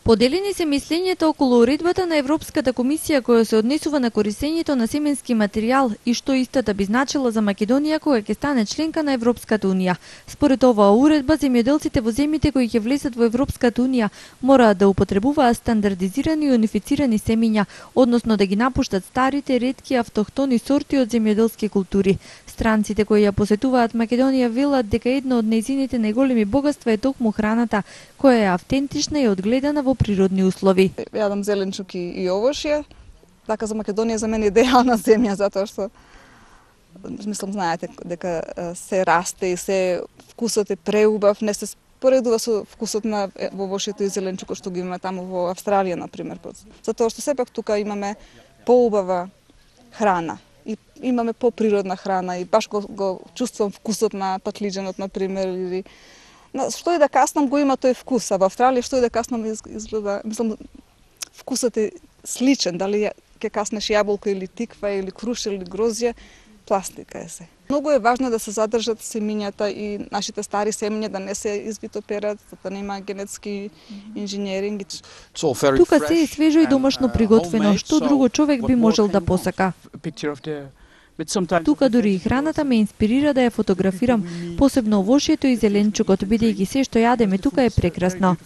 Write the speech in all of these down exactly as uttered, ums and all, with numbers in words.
Поделени се мислењето околу уредбата на Европската комисија која се однесува на користењето на семенски материјал и што истата би значила за Македонија кога ќе стане членка на Европската унија. Според оваа уредба, земјоделците во земјите кои ќе влезат во Европската унија мораат да употребуваат стандардизирани и унифицирани семиња, односно да ги напуштат старите, ретки автохтони сорти од земјоделски култури. Странците кои ја посетуваат Македонија велат дека едно од нејзините најголеми богатства е токму храната, која е автентична и одгледана во природни услови. Јадам зеленчук и, и овошје. Така за Македонија за мене идеална земја, затоа што мислам знаете дека се расте и се вкусот е преубав, не се споредува со вкусот на овошјето и зеленчукот што ги имаме таму во Австралија на пример. Затоа што сепак тука имаме поубава храна и имаме поприродна храна и баш го, го чувствувам вкусот на патлиџанот на пример или што и да каснам го има тој вкус, а во Австралија што и да каснам изгледа, мислам, вкусот е сличен, дали ќе каснеш јаболко или тиква или крушел или грозје, пластика е се. Многу е важно да се задржат семињата и нашите стари семиња да не се извитоперат, да нема генетски инженеринг. Тука се е свежо и домашно приготвено, што друго човек би можел да посака. Тука дури и храната ме инспирира да ја фотографирам, посебно овошјето и зеленчукот, бидејќи се што јадеме тука е прекрасно.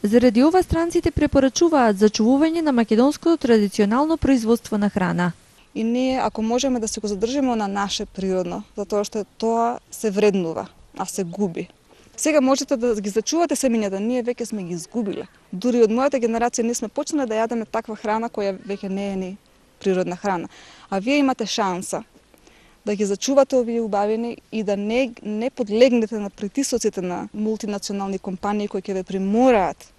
Заради ова странците препорачуваат зачувување на македонското традиционално производство на храна. И ние, ако можеме да се го задржиме на наше природно, затоа што тоа се вреднува, а се губи. Сега можете да ги зачувате семињата, ние веќе сме ги изгубиле. Дури од мојата генерација ние сме почнале да јадеме таква храна која веќе не е ни природна храна. А вие имате шанса да ги зачувате овие убавини и да не, не подлегнете на притисоците на мултинационални компании кои ќе ве примораат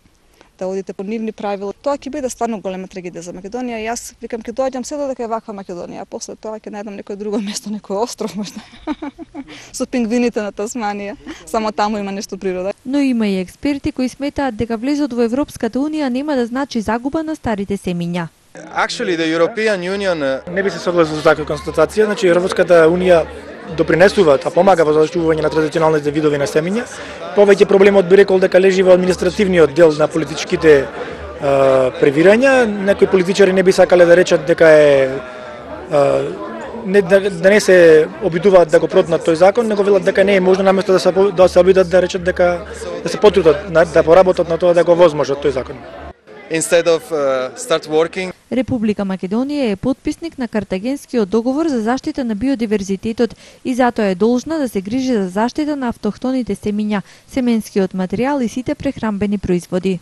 да одите по нивни правила. Тоа ќе биде стварно голема трагедија за Македонија и јас викам ќе доаѓам се додека е ваква Македонија, а после тоа ќе најдам некој друго место, некој остров можда. Со пингвините на Тасманија, само таму има нешто природа. Но има и експерти кои сметаат дека влезот во Европската унија нема да значи загуба на старите семиња. Actually, the European Union... Не би се согласил со таква констатација, значи Европската унија допринесува, а помага во зачувување на традиционалните видови на семиња. Повеќе проблемот би рекол дека лежи во административниот дел на политичките а, превирања. Некои политичари не би сакале да речат дека е а, не, да, да не се обидуваат да го протнат тој закон, него велат дека не е можно наместо да се да се обидат да речат дека да се потрудат да поработат на тоа да го возможат тој закон. Instead of uh, start working. Република Македонија е потписник на Картагенскиот договор за заштита на биодиверзитетот и затоа е должна да се грижи за заштита на автохтоните семиња, семенскиот материјал и сите прехранбени производи.